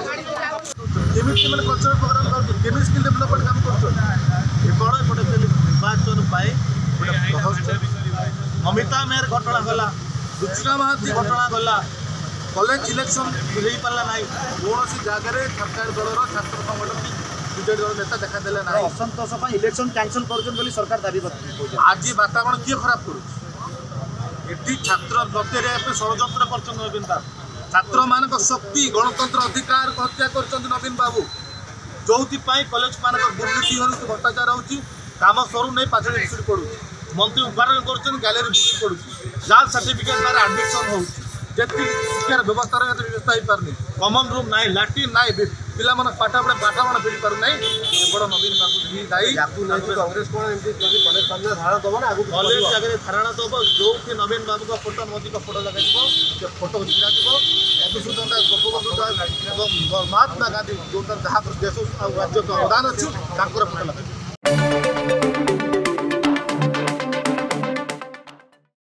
କେମିତି ମାନେ cultural programme କରୁଛନ୍ତି, କେମିତି ସ୍କିଲ୍ ଡେଭଲପମେଣ୍ଟ କାମ କରୁଛନ୍ତି। କେବଳ ଏପଟେ ନିର୍ବାଚନ ପାଇଁ ଗୋଟେ ମମିତା ମେହେର ଘଟଣା ଗଲା, ରୁଚିରା ମହାନ୍ତି ଘଟଣା ଗଲା, କଲେଜ ଇଲେକ୍ସନ ହେଇପାରିଲା ନାହିଁ, କୌଣସି ଜାଗାରେ ସରକାର ଦଳର ଛାତ୍ର ସଂଗଠନ କି ବିଜେଡି ଦଳ ନେତା ଦେଖାଦେଲେ ନାହିଁ। ଅସନ୍ତୋଷ ପାଇଁ ଇଲେକ୍ସନ କ୍ୟାନସଲ କରୁଛନ୍ତି ବୋଲି ସରକାର ଦାବି କରୁଛନ୍ତି। ଆଜି ବାତାବରଣ କିଏ ଖରାପ କରୁଛି? ଏଠି ଛାତ୍ର ନତେରିବା ପାଇଁ ଷଡ଼ଯନ୍ତ୍ର କରିଛନ୍ତି ନବୀନ ବାବୁ। ଛାତ୍ରମାନଙ୍କ ଶକ୍ତି, ଗଣତନ୍ତ୍ର ଅଧିକାରକୁ ହତ୍ୟା କରିଛନ୍ତି ନବୀନ ବାବୁ। ଯୋଉଥିପାଇଁ କଲେଜ ମାନଙ୍କର ଦୁର୍ନୀତି ହେଉଛି, ଭ୍ରଷ୍ଟାଚାର ହେଉଛି, କାମ ସରୁନାହିଁ, ପାଚେରୀ ଭୁଶୁଡ଼ି ପଡୁଛି, ମନ୍ତ୍ରୀ ଉଦ୍ଘାଟନ କରୁଛନ୍ତି, ଗ୍ୟାଲେରୀ ଭୁଶୁଡ଼ି ପଡୁଛି, ଜାଲ ସାର୍ଟିଫିକେଟ୍ ଦ୍ୱାରା ଆଡମିସନ୍ ହେଉଛି, ଯେତିକି ଶିକ୍ଷାର ବ୍ୟବସ୍ଥା ରହିବା ବ୍ୟବସ୍ଥା ହେଇପାରୁନି, କମନ୍ ରୁମ୍ ନାହିଁ, ଲାଟ୍ରିନ୍ ନାହିଁ, ପିଲାମାନେ ପାଠ ପଢ଼ା ବାତାବରଣ ଫେରି ପାରୁନାହିଁ। କେବଳ ନବୀନ ବାବୁ ହିଁ ଦାୟୀ। କଂଗ୍ରେସ କଣ ଏମିତି ଯଦି କଲେଜ ସାମ୍ନାରେ ଧାରଣା ଦବ ନା ଆଗକୁ କଲେଜ ଜାଗାରେ ଧାରଣା ଦବ, ଯୋଉଠି ନବୀନ ବାବୁଙ୍କ ଫଟୋ, ମୋଦିଙ୍କ ଫଟୋ ଲଗାଯିବ, ସେ ଫଟୋ ଛିଡ଼ାଯିବ। ମଧୁସୂଦନ ଦାସ, ଗୋପବନ୍ଧୁ ଦାସ ଏବଂ ମହାତ୍ମା ଗାନ୍ଧୀ ଯୋଉଟା ଯାହା ଦେଶ ଆଉ ରାଜ୍ୟକୁ ଅବଦାନ ଅଛି ତାଙ୍କର ଫଟୋ ଲଗାଯିବ।